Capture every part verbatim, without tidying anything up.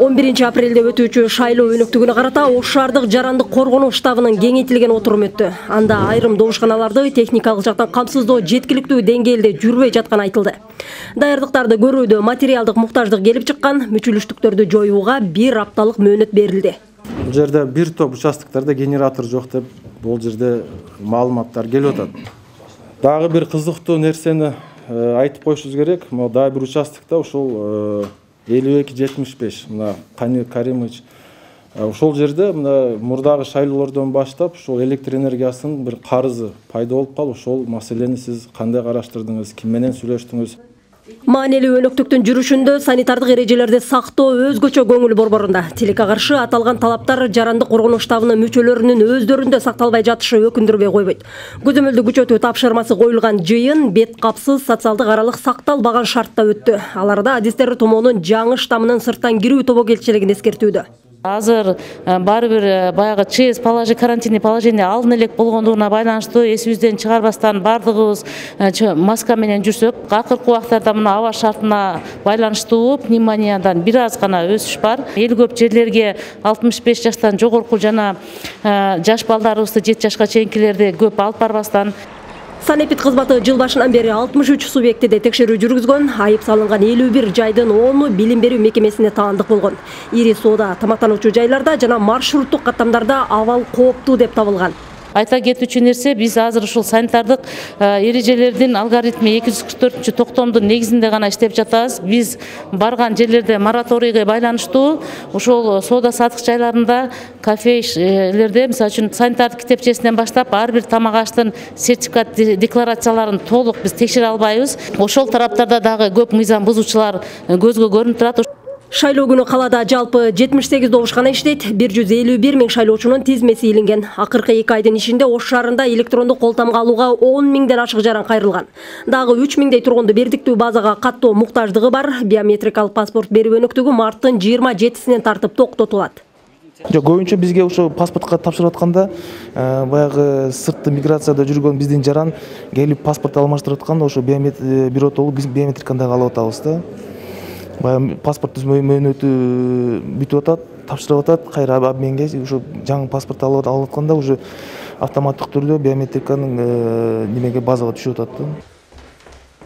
он биринчи апрелде өтүүчү шайлоо өнөктүгүнө карата Ош шаардык жарандык коргонуу штабынын кеңейтилген отуруму өттү. Анда айрым добушканаларды техникалык жактан камсыздоо жеткиликтүү деңгээлде жүрбөй жатканы айтылды. Даярдыктарды көрүүдө материалдык муктаждык келип чыккан, мүчүлүштүктөрдү жоюуга бир апталык мөөнөт берилди. Бул жерде бир топ участоктарда генератор жок деп бул жерде маалыматтар келип атат. Дагы бир кызыктуу нерсени айтып коюшубуз керек. Могу дагы бир участокто ушул элүү эки жетимиш беш мына Кани Каримович ошол жерде мына мурдагы шайлоолордон баштап ушул электр энергиясынын бир карызы пайда болуп калып, ошол маселени сиз кандай караштырдыңыз, ким менен сүйлөштүңүз? Маанилүү өнөктүктүн жүрүшүндө санитардык эрежелерди сактоо өзгөчө көңүл борборунда. Тилекке каршы аталган талаптар жарандык коргонуу штабынын мүчөлөрүнүн өздөрүндө сакталбай жатышы өкүндүрбөй койбойт. Көзөмөлдү күчөтүү тапшырмасы коюлган жыйын бет капсыз социалдык аралык сакталбаган шартта өттү. Аларда адистер томоонун жаңы штаммынын сырттан кирүү тобокелчилигин эскертүүдө. Азыр баары бир баягы ЧС положение, карантинный положение алын элек болгондугуна байланыштуу эсибизден чыгарбастан бардыгыбыз маска менен жүрсөк, акыркы убактарда мына аба шартына байланыштуу пневмониядан бир аз гана өсүш бар. Эл көп жерлерге алтымыш беш жаштан жогорку жана жаш балдарыбызды жети жашка чейинкилерди көп алып барбастан. Санэпид кызматы жыл башынан бери алтымыш үч субъектиде текшерүү жүргүзгөн, айып салынган элүү бир жайдын onu билим берүү мекемесине таандык болгон. Ири соода, тамактануучу жайларда жана маршруттук каттамдарда абал кооптуу деп табылган. Айта кетүүчү нерсе, биз азыр ушул санитардык эрежелердин алгоритми эки жүз кырк төртүнчү токтомдун негизинде гана иштеп жатабыз. Биз барган жерлерде мораторийге байланыштуу ошол соода сатык жайларында, кафелерде, мисалы үчүн санитардык китепчесинен баштап ар бир тамак аштын сертификат декларацияларын толук биз текшере албайбыз. Ошол тараптарда дагы көп мыйзам бузуучулар көзгө көрүнүп турат. Шайлоо күнү калаада жалпы жетимиш сегиз добушкана иштейт, бир жүз элүү бир миң шайлоочунун тизмеси илинген. Акыркы эки айдын ичинде Ош шаарында электрондук кол тамга алууга он миңден ашык жаран кайрылган. Дагы үч миңдей тургунду бердиктүү базага каттоо муктаждыгы бар. Биометрикалык паспорт берүү өнөктүгү марттын жыйырма жетисинен тартып токтотулат. Жок, көбүнчө бизге ошо паспортко тапшырып атканда баягы сыртты миграцияда жүргөн биздин жаран келип паспорт алмаштырып атканда ошо биротолук болуп биз биометриканы дагы алып атабыз да. Баягы паспорт мөөнөтү бүтүп атат, тапшырып атат, кайра обменге ошо жаңы паспорт алып атканда уже автоматтык түрдө биометриканын немеге базага түшүп атат.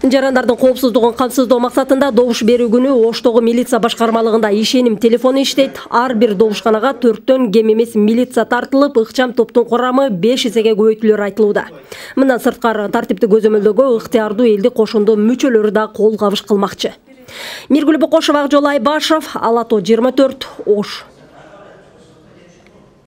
Жарандардын коопсуздугун камсыздоо максатында добуш берүү күнү Оштогу милиция башкармалыгында ишеним телефону иштейт. Ар бир добушканага төрттөн кем эмес милиция тартылып, ыкчам топтун курамы беш эсеге көбөйтүлөрү айтылууда. Мындан сырткары тартипти көзөмөлдөгө ыктыярдуу элдик кошундо мүчөлөрү да кол кабыш кылмакчы. Миргүл Бокошева, Акжол Айбашев, Ала То жыйырма төрт, Ош.